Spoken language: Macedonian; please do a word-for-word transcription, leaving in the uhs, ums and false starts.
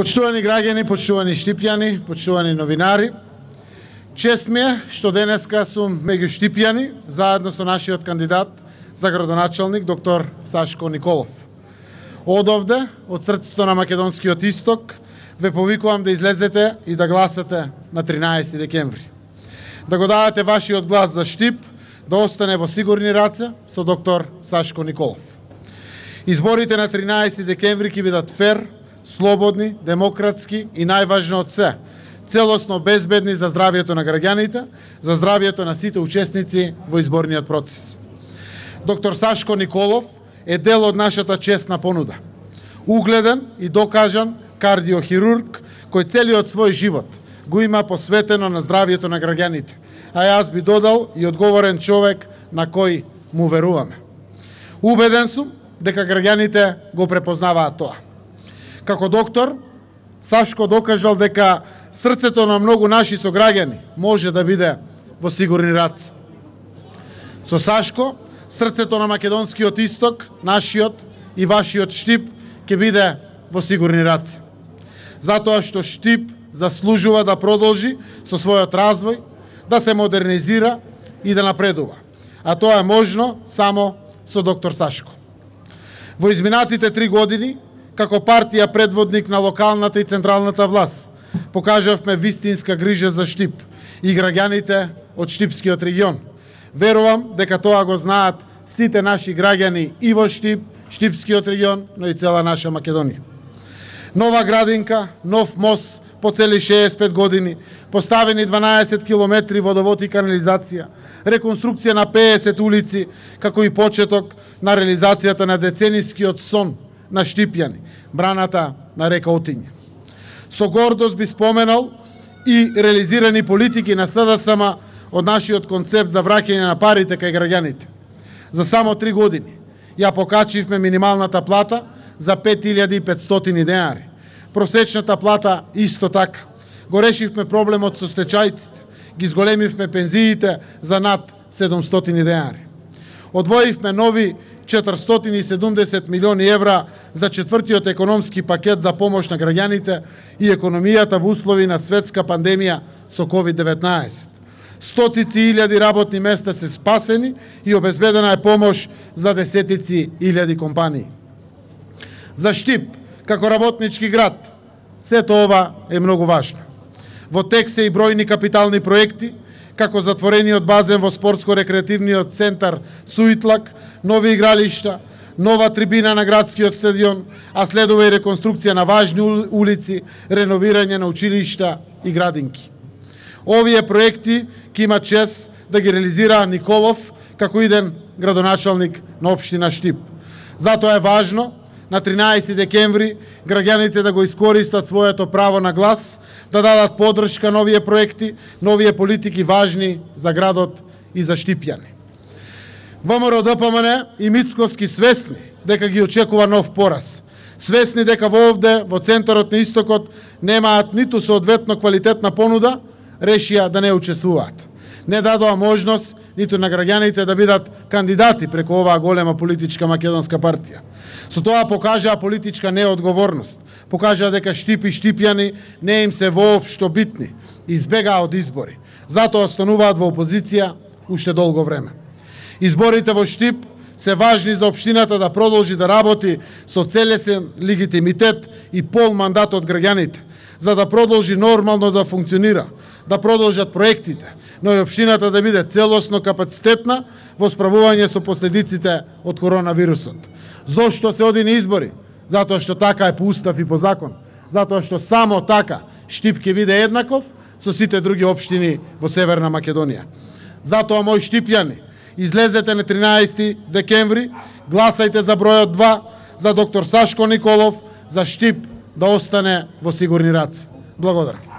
Почитувани граѓани, почитувани Штипјани, почитувани новинари, чест ми е што денеска сум меѓу Штипјани, заедно со нашиот кандидат за градоначалник, доктор Сашко Николов. Одовде, од срцето на македонскиот исток, ве повикувам да излезете и да гласате на тринаесети декември. Да го дадете вашиот глас за Штип, да остане во сигурни раце со доктор Сашко Николов. Изборите на тринаесети декември ќе бидат фер, слободни, демократски и најважно од се, целосно безбедни за здравието на граѓаните, за здравието на сите учесници во изборниот процес. Доктор Сашко Николов е дел од нашата честна понуда. Угледен и докажан кардиохирург кој целиот свој живот го има посветено на здравието на граѓаните, а јас би додал и одговорен човек на кој му веруваме. Убеден сум дека граѓаните го препознаваат тоа. Како доктор, Сашко докажал дека срцето на многу наши сограѓани може да биде во сигурни раце. Со Сашко, срцето на македонскиот исток, нашиот и вашиот Штип ќе биде во сигурни раце. Затоа што Штип заслужува да продолжи со својот развој, да се модернизира и да напредува. А тоа е можно само со доктор Сашко. Во изминатите три години, како партија предводник на локалната и централната власт, покажавме вистинска грижа за Штип и граѓаните од Штипскиот регион. Верувам дека тоа го знаат сите наши граѓани и во Штип, Штипскиот регион, но и цела наша Македонија. Нова градинка, нов мост по цели шеесет и пет години, поставени дванаесет километри водовод и канализација, реконструкција на пеесет улици, како и почеток на реализацијата на деценискиот сон на Штипјани, браната на река Отиња. Со гордост би споменал и реализирани политики на СДСМ од нашиот концепт за враќање на парите кај граѓаните. За само три години ја покачивме минималната плата за пет илјади и петстотини денари. Просечната плата исто така. Го решивме проблемот со стечајците, ги зголемивме пензиите за над седумстотини денари. Одвоивме нови четиристотини и седумдесет милиони евра за четвртиот економски пакет за помош на граѓаните и економијата во услови на светска пандемија со ковид деветнаесет. Стотици илјади работни места се спасени и обезбедена е помош за десетици илјади компании. За Штип, како работнички град, сето ова е многу важно. Во тек се и бројни капитални проекти, како затворениот базен во спортско-рекреативниот центар Суитлак, нови игралишта, нова трибина на градскиот стадион, а следува и реконструкција на важни улици, реновирање на училишта и градинки. Овие проекти ќе има чест да ги реализира Николов како иден градоначалник на општина Штип. Затоа е важно на тринаесети декември граѓаните да го искористат своето право на глас, да дадат поддршка на овие проекти, на овие политики важни за градот и за Штипјани. ВМРО Д П М Н и Мицковски свесни дека ги очекува нов пораз. Свесни дека во овде, во центарот на истокот, немаат ниту соодветно квалитетна понуда, решија да не учествуваат. Не дадоа можност ниту на граѓаните да бидат кандидати преку оваа голема политичка македонска партија. Со тоа покажаа политичка неодговорност. Покажаа дека Штип и Штипјани не им се воопшто битни. Избегаа од избори. Затоа остануваат во опозиција уште долго време. Изборите во Штип се важни за општината да продолжи да работи со целесен легитимитет и пол мандат од граѓаните, за да продолжи нормално да функционира, да продолжат проектите, но и општината да биде целосно капацитетна во справување со последиците од коронавирусот. Зошто се оди на избори? Затоа што така е по устав и по закон. Затоа што само така Штип ќе биде еднаков со сите други општини во Северна Македонија. Затоа, мои Штипјани, излезете на тринаесети декември, гласајте за бројот два, за доктор Сашко Николов, за Штип да остане во сигурни раце. Благодарам.